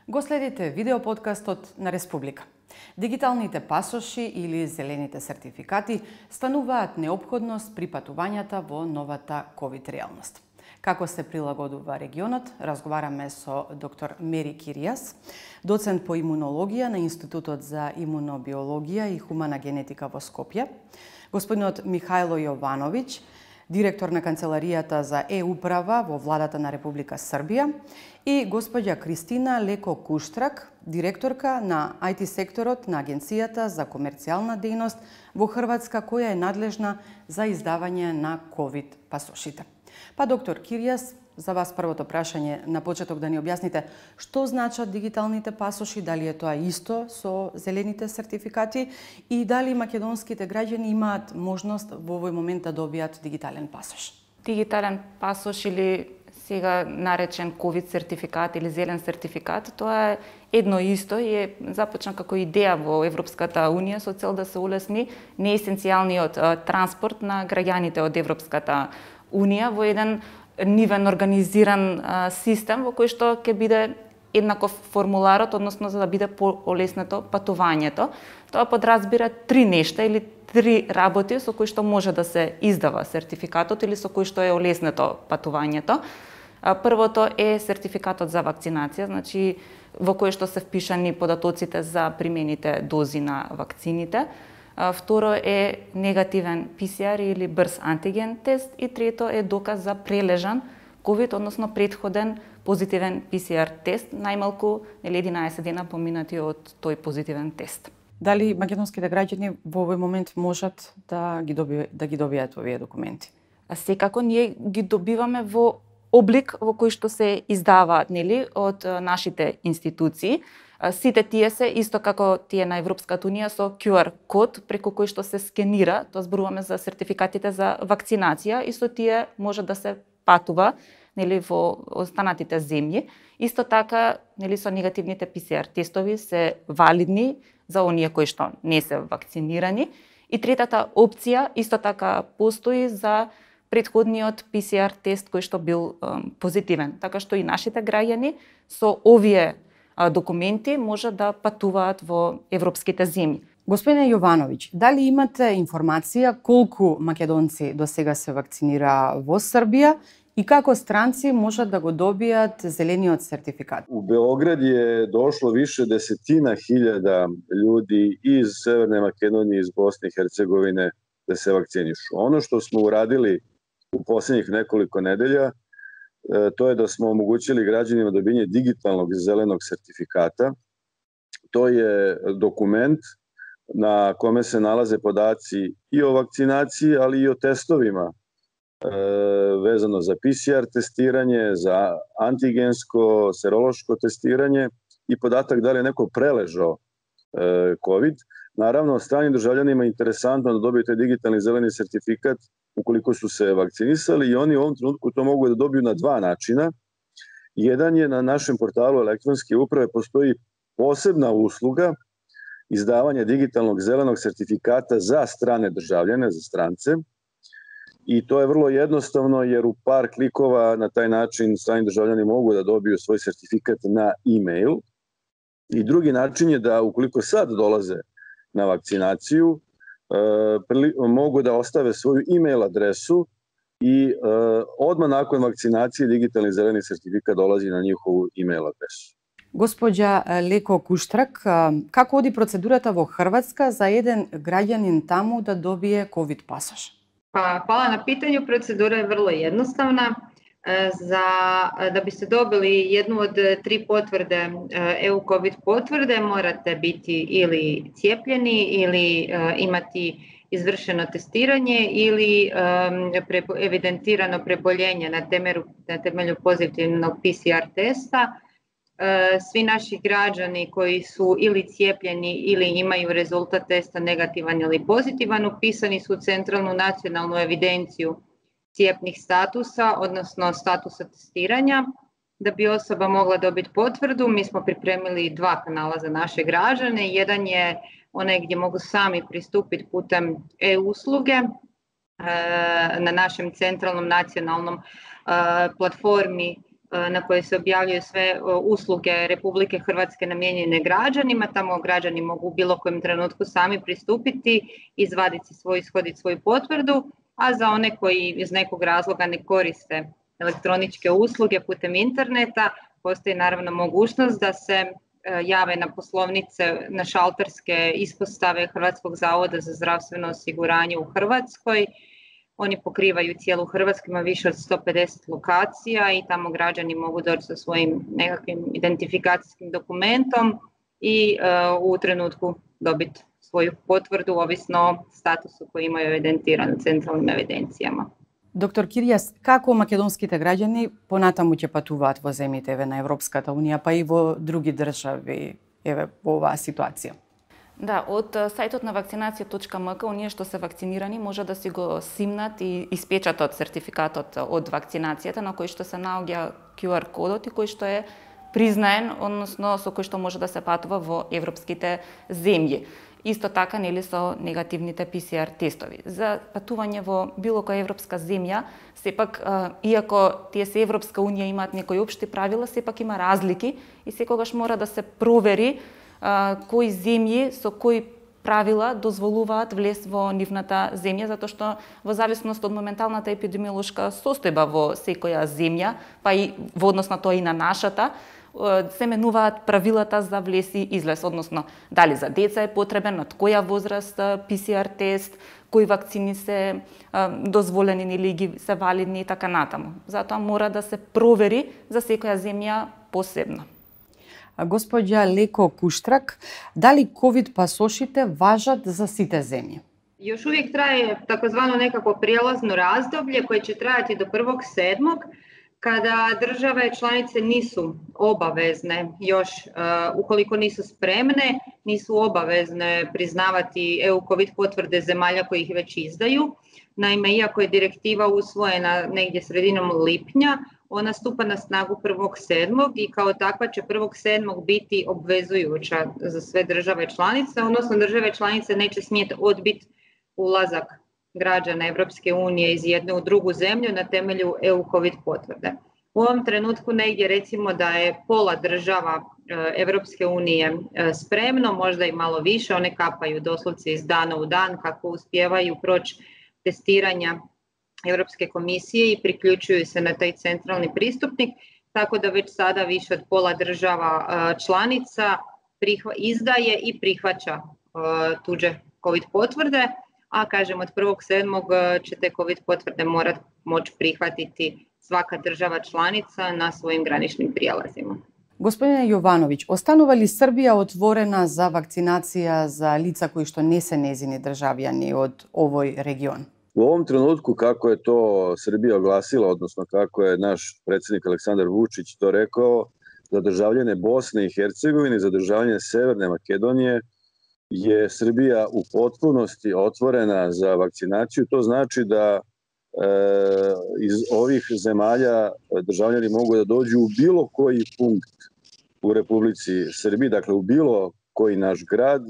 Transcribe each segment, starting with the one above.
Го следите видеоподкастот на Республика. Дигиталните пасоши или зелените сертификати стануваат неопходност при патувањата во новата ковид реалност. Како се прилагодува регионот, разговараме со доктор Мери Киријас, доцент по имунологија на Институтот за имунобиологија и хумана генетика во Скопје, господинот Михајло Јовановиќ, директор на Канцеларијата за Е-управа во Владата на Република Србија, и господја Кристина Леко Куштрак, директорка на IT секторот на Агенцијата за комерцијална дејност во Хрватска, која е надлежна за издавање на ковид пасошите. Па, доктор Киријас, за вас првото прашање на почеток да ни објасните што значат дигиталните пасоши, дали е тоа исто со зелените сертификати и дали македонските граѓани имаат можност во овој момент да добијат дигитален пасош. Дигитален пасош или сега наречен ковид сертификат или зелен сертификат, тоа е едно исто и е започна како идеја во Европската унија со цел да се улесни неесенцијалниот транспорт на граѓаните од Европската унија во еден нивен организиран систем во кој што ќе биде еднаков формуларот, односно за да биде полеснето патувањето. Тоа подразбира три нешта или три работи со кои што може да се издава сертификатот или со кои што е олеснето патувањето. Првото е сертификатот за вакцинација, значи во кој што се впишани податоците за примените дози на вакцините. Второ е негативен PCR или брз антиген тест и трето е доказ за прележан COVID, односно претходен позитивен PCR тест, најмалку 11 дена поминати од тој позитивен тест. Дали македонските граѓани во овој момент можат да ги добијат овие документи? Секако ние ги добиваме во облик во кој што се издаваат, нели, од нашите институции. Сите тие се исто како тие на Европската унија со QR код преку кој што се скенира, тоа зборуваме за сертификатите за вакцинација и со тие може да се патува, нели, во останатите земји. Исто така, нели, со негативните PCR тестови се валидни за оние кои што не се вакцинирани. И третата опција исто така постои за претходниот PCR тест кој што бил позитивен, така што и нашите граѓани со овие документи може да патуваат во европските земји. Господине Јовановиќ, дали имате информација колку македонци до сега се вакцинира во Србија и како странци можат да го добијат зелениот сертификат? У Beograd je došlo više desetina hiljada ljudi iz Severne Makedonije, iz Bosne i Hercegovine da se vakcinišu. Ono što smo uradili u posljednjih nekoliko nedelja, to je da smo omogućili građanima dobijanje digitalnog zelenog sertifikata. To je dokument na kome se nalaze podaci i o vakcinaciji, ali i o testovima vezano za PCR testiranje, za antigensko, serološko testiranje i podatak da li je neko preležao COVID. Naravno, stranim državljanima je interesantno da dobiju taj digitalni zeleni sertifikat ukoliko su se vakcinisali i oni u ovom trenutku to mogu da dobiju na dva načina. Jedan je na našem portalu elektronske uprave postoji posebna usluga izdavanja digitalnog zelenog sertifikata za strane državljane, za strance. I to je vrlo jednostavno jer u par klikova na taj način strani državljani mogu da dobiju svoj sertifikat na e-mail. I drugi način je da ukoliko sad dolaze na vakcinaciju, mogu da ostave svoju e-mail adresu i odmah nakon vakcinacije digitalni zeleni sertifikat dolazi na njihovu e-mail adresu. Госпоѓа Леко Куштрак, како оди процедурата во Хрватска за еден граѓанин таму да добие ковид пасош? Hvala na pitanju. Procedura je vrlo jednostavna. Da biste dobili jednu od tri potvrde, EU COVID potvrde, morate biti ili cijepljeni ili imati izvršeno testiranje ili evidentirano preboljenje na temelju pozitivnog PCR testa. Svi naši građani koji su ili cijepljeni ili imaju rezultat testa negativan ili pozitivan upisani su u centralnu nacionalnu evidenciju cijepnih statusa, odnosno statusa testiranja. Da bi osoba mogla dobiti potvrdu, mi smo pripremili dva kanala za naše građane. Jedan je onaj gdje mogu sami pristupiti putem e-usluge na našem centralnom nacionalnom platformi na koje se objavljuju sve usluge Republike Hrvatske namijenjene građanima. Tamo građani mogu u bilo kojem trenutku sami pristupiti, izvaditi ishoditi svoju potvrdu, a za one koji iz nekog razloga ne koriste elektroničke usluge putem interneta, postoji naravno mogućnost da se jave na poslovnice, na šalterske ispostave Hrvatskog zavoda za zdravstveno osiguranje u Hrvatskoj. Oni pokrivaju cijelu Hrvatsku, ima više od 150 lokacija i tamo građani mogu doći sa svojim nekakvim identifikacijskim dokumentom i u trenutku dobiti svoju potvrdu, ovisno o statusu koji imaju evidentiran u centralnim evidencijama. Доктор Киријас, како македонските граѓани понатаму ќе патуваат во земјите на Европската Унија, па и во други држави во оваа ситуација? Да, од сајтот на вакцинација.мк, оние што се вакцинирани може да си го симнат и испечатат сертификатот од вакцинацијата на кој што се наоѓа QR кодот и кој што е признаен, односно со кој што може да се патува во европските земји. Исто така, нели, со негативните PCR тестови. За патување во било која европска земја, сепак, иако тие се Европска Унија имаат некои општи правила, сепак има разлики и секогаш мора да се провери кои земји со кои правила дозволуваат влез во нивната земја, затоа што во зависност од моменталната епидемиолошка состојба во секоја земја, па и во однос на тоа и на нашата, се менуваат правилата за влез и излез, односно дали за деца е потребен, од која возраст PCR тест, кои вакцини се дозволени или ги се валидни и така натаму. Затоа мора да се провери за секоја земја посебно. Господја Леко Куштрак, дали ковид пасошите важат за сите земји? Još uvijek traje takozvano nekako prijelazno razdoblje koje će trajati do 1.7. kada države članice nisu obavezne još, ukoliko nisu spremne, nisu obavezne priznavati EU COVID potvrde zemalja koji ih već izdaju. Naime, iako je direktiva usvojena negdje sredinom lipnja, ona stupa na snagu 1.7. i kao takva će 1.7. biti obvezujuća za sve države članice, odnosno države članice neće smjeti odbiti ulazak građana Evropske unije iz jedne u drugu zemlju na temelju EU COVID potvrde. U ovom trenutku negdje recimo da je pola država Evropske unije spremno, možda i malo više, one kapaju doslovce iz dana u dan kako uspijevaju proći testiranja Europske komisije i priključuju se na taj centralni pristupnik, tako da već sada više od pola država članica izdaje i prihvaća tuđe COVID potvrde, a kažem od 1.7. će te COVID potvrde moći prihvatiti svaka država članica na svojim graničnim prijelazima. Господине Јовановиќ, останува ли Србија отворена за вакцинација за лица кои што не се незини државјани од овој регион? U ovom trenutku, kako je to Srbija oglasila, odnosno kako je naš predsjednik Aleksandar Vučić to rekao, za državljane Bosne i Hercegovine, za državljane Severne Makedonije, je Srbija u potpunosti otvorena za vakcinaciju. To znači da iz ovih zemalja državljani mogu da dođu u bilo koji punkt u Republici Srbiji, dakle u bilo koji naš grad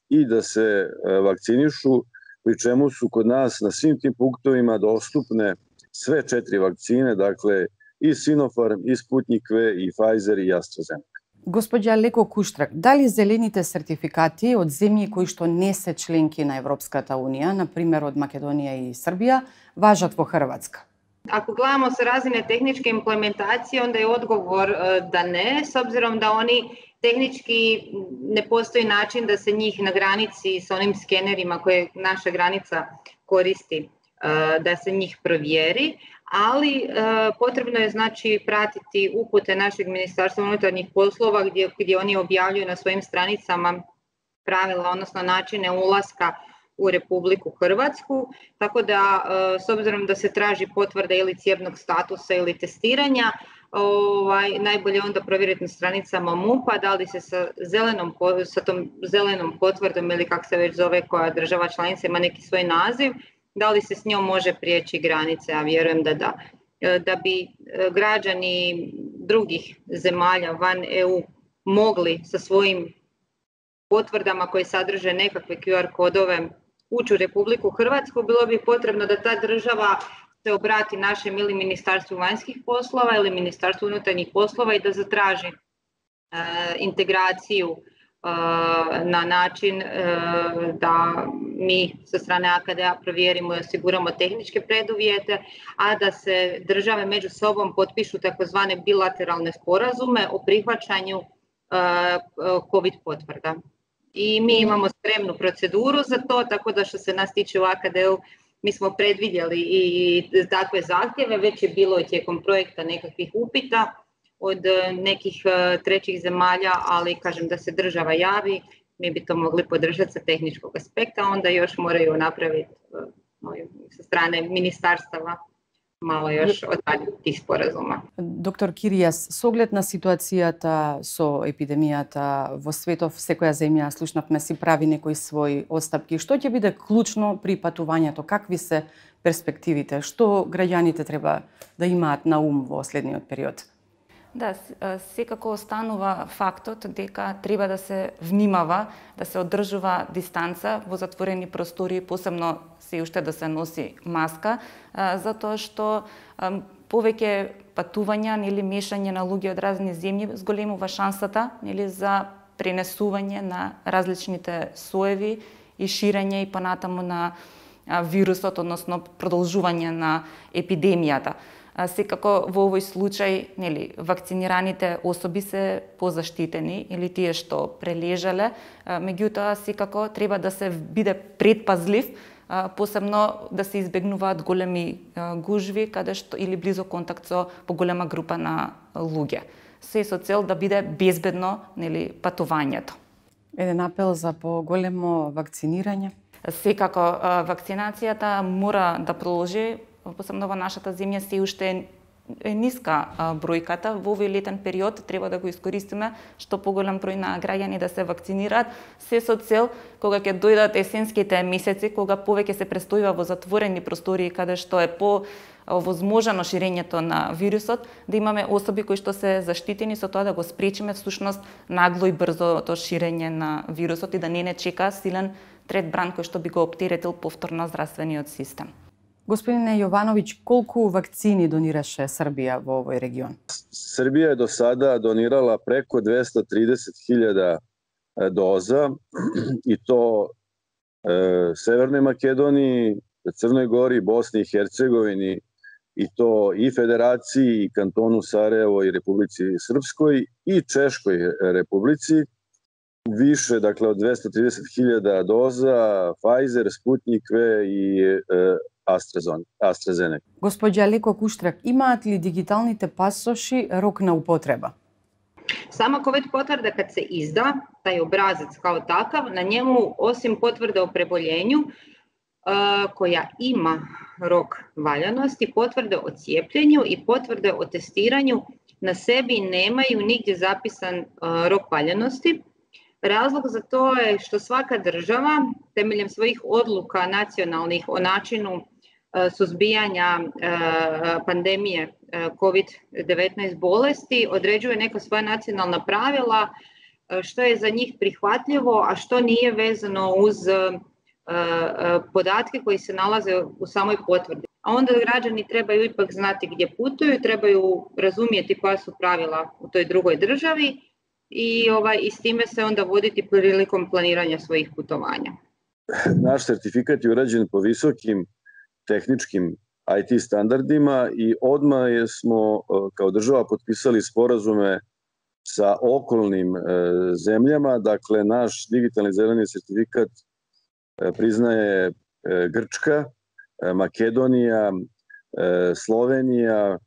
i da se vakcinišu, pri čemu su kod nas na svim tim punktovima dostupne sve 4 vakcine, dakle i Sinopharm, i Sputnik V, i Pfizer, i AstraZeneca. Господја Леко Куштрак, дали зелените сертификати од земји кои што не се членки на Европската Унија, например од Македонија и Србија, важат во Хрватска? Ako gledamo sa razine tehničke implementacije, onda je odgovor da ne, s obzirom da oni tehnički ne postoji način da se njih na granici sa onim skenerima koje naša granica koristi, da se njih provjeri, ali potrebno je znači pratiti upute našeg Ministarstva unutarnjih poslova gdje oni objavljuju na svojim stranicama pravila, odnosno načine ulaska u Republiku Hrvatsku, tako da s obzirom da se traži potvrda ili cijepnog statusa ili testiranja, najbolje onda provjeriti na stranicama MUP-a da li se sa tom zelenom potvrdom ili kako se već zove koja država članica ima neki svoj naziv, da li se s njom može prijeći granice, a vjerujem da da. Da bi građani drugih zemalja van EU mogli sa svojim potvrdama koje sadrže nekakve QR kodove ući u Republiku Hrvatsku, bilo bi potrebno da ta država se obrati našem ili Ministarstvu vanjskih poslova ili Ministarstvu unutarnjih poslova i da zatraži integraciju na način da mi sa strane AKD-a provjerimo i osiguramo tehničke preduvjete, a da se države među sobom potpišu takozvane bilateralne sporazume o prihvaćanju COVID potvrda. I mi imamo spremnu proceduru za to, tako da što se nas tiče u AKD-u, mi smo predvidjeli i takve zahtjeve, već je bilo tijekom projekta nekakvih upita od nekih trećih zemalja, ali kažem da se država javi, mi bi to mogli podržati sa tehničkog aspekta, onda još moraju napraviti sa strane ministarstava malo još odraditi tih sporazuma. Доктор Киријас, со оглед на ситуацијата со епидемијата во светов, секоја земја, слушнавме, си прави некои своји отстапки. Што ќе биде клучно при патувањето? Какви се перспективите? Што граѓаните треба да имаат на ум во следниот период? Да, секако останува фактот дека треба да се внимава, да се одржува дистанца во затворени простори, посебно се уште да се носи маска, затоа што повеќе патувања или мешање на луѓе од разни земји зголемува шансата за пренесување на различните соеви и ширење и понатаму на вирусот, односно продолжување на епидемијата. Секако во овој случај, вакцинираните особи се позаштитени или тие што прележале, меѓутоа секако треба да се биде предпазлив, посебно да се избегнуваат големи гужви каде што или близо контакт со поголема група на луѓе. Се со цел да биде безбедно патувањето. Еден апел за поголемо вакцинирање. Секако вакцинацијата мора да продолжи. Посебно во нашата земја се уште е ниска бројката. Во овој летен период треба да го искористиме што поголем број на граѓани да се вакцинираат, се со цел кога ќе дојдат есенските месеци, кога повеќе се престојува во затворени простории каде што е возможно ширењето на вирусот, да имаме особи кои што се заштитени, со тоа да го спречиме всушност нагло и брзото ширење на вирусот и да не чека силен трет бран кој што би го оптеретил повторно здравствениот систем. Господине Јовановиќ, колку вакцини донираше Србија во овој регион? Србија е до сада донирала преко 230.000 доза, и то Северној Македонiji, Црној Гори, Босни и Херцеговини, и то и Федерацији, и кантону Сарајево, и Републици Српској, и Чешкој Републици. Više, dakle, od 230.000 doza, Pfizer, Sputnik V и AstraZeneca. Госпоѓа Леко Куштрак, имаат ли дигиталните пасоши рок на употреба? Sama COVID potvrda kad se izda, taj obrazac kao takav, na njemu osim potvrde o preboljenju koja ima rok valjanosti, potvrde o cijepljenju i potvrde o testiranju na sebi nemaju nigdje zapisan rok valjanosti. Razlog za to je što svaka država temeljem svojih odluka nacionalnih o načinu suzbijanja pandemije COVID-19 bolesti određuje neka svoja nacionalna pravila što je za njih prihvatljivo, a što nije vezano uz podatke koji se nalaze u samoj potvrdi. A onda građani trebaju ipak znati gdje putuju, trebaju razumjeti koja su pravila u toj drugoj državi i s time se onda voditi prilikom planiranja svojih putovanja. Naš sertifikat je urađen po visokim tehničkim IT standardima i odmah smo kao država potpisali sporazume sa okolnim zemljama. Dakle, naš digitalni zeleni sertifikat priznaje Grčka, Makedonija, Slovenija,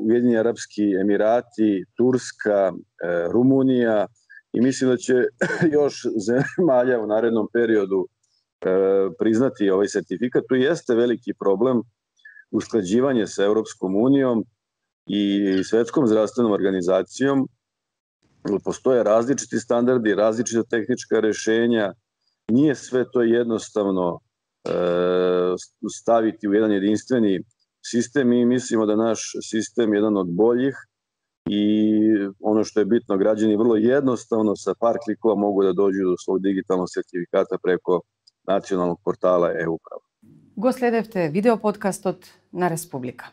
Ujedinjeni Arapski Emirati, Turska, Rumunija i mislim da će još zemalja u narednom periodu priznati ovaj sertifikat. Tu jeste veliki problem usklađivanje sa Europskom unijom i Svetskom zdravstvenom organizacijom. Postoje različiti standardi, različita tehnička rešenja. Nije sve to jednostavno staviti u jedan jedinstveni sistem. Mi mislimo da naš sistem je jedan od boljih i ono što je bitno, građani vrlo jednostavno sa par klikova mogu da dođu do svog digitalnog sertifikata preko nacionalnog portala e-uprava. Го следевте видеоподкастот на Республика.